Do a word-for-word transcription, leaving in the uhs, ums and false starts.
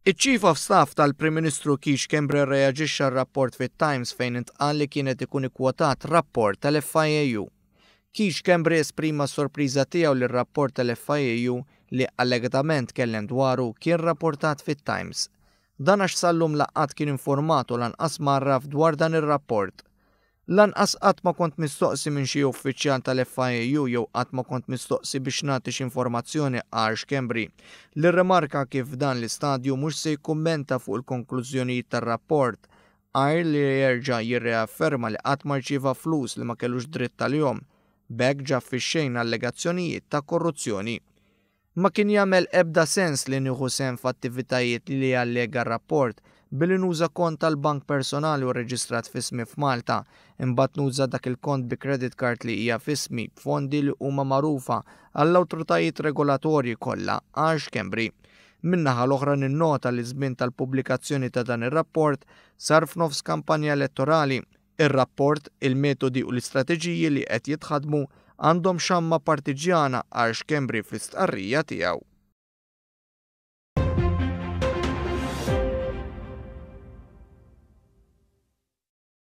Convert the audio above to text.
Iċ-Chief of Staff tal-Prim Ministru Keith Schembri rreaġixxa r-rapport fit-Times fejn intqal li kienet ikun ikkwotat rapport tal-F I A U. Keith Schembri esprima sorpriża tiegħu li r-rapport tal-F I A U li allegatament kellem dwaru kien rapportat fit-Times. Dan għax sal-lum la qatt kien informat u lanqas mgħarraf dwar dan ir-rapport. "Lanqas qatt ma kont mistoqsi minn xi uffiċjal tal-F I A U jew qatt ma kont mistoqsi biex nagħti xi informazzjoni," qal Schembri, li rrimarka kif dan l-istadju mhux se jikkummenta fuq il-konklużjonijiet tar-rapport, għajr li jerġa' jirreafferma li qatt ma rċieva flus li ma kellux dritt għalihom. B'hekk ġab fix-xejn allegazzjonijiet ta' korruzzjoni. "Ma kien jagħmel ebda sens li nieħu sehem f'attivitajiet li jallega r-rapport billi nuża kont tal-bank personali u reġistrat f'ismi f'Malta, imbagħad nuża dak il-kont bi credit card li hija f'ismi b'fondi li huma magħrufa għall-awtoritajiet regolatorji kollha," qal Schembri. "Min-naħa l-oħra ninnota li żmien tal-pubblikazzjoni ta' dan ir-rapport sar f'nofs kampanja elettorali. Ir-rapport, il-metodi u l-istrateġiji li qed jitħadmu għandhom xamma partiġjana," qal Schembri fl-istqarrija tiegħu.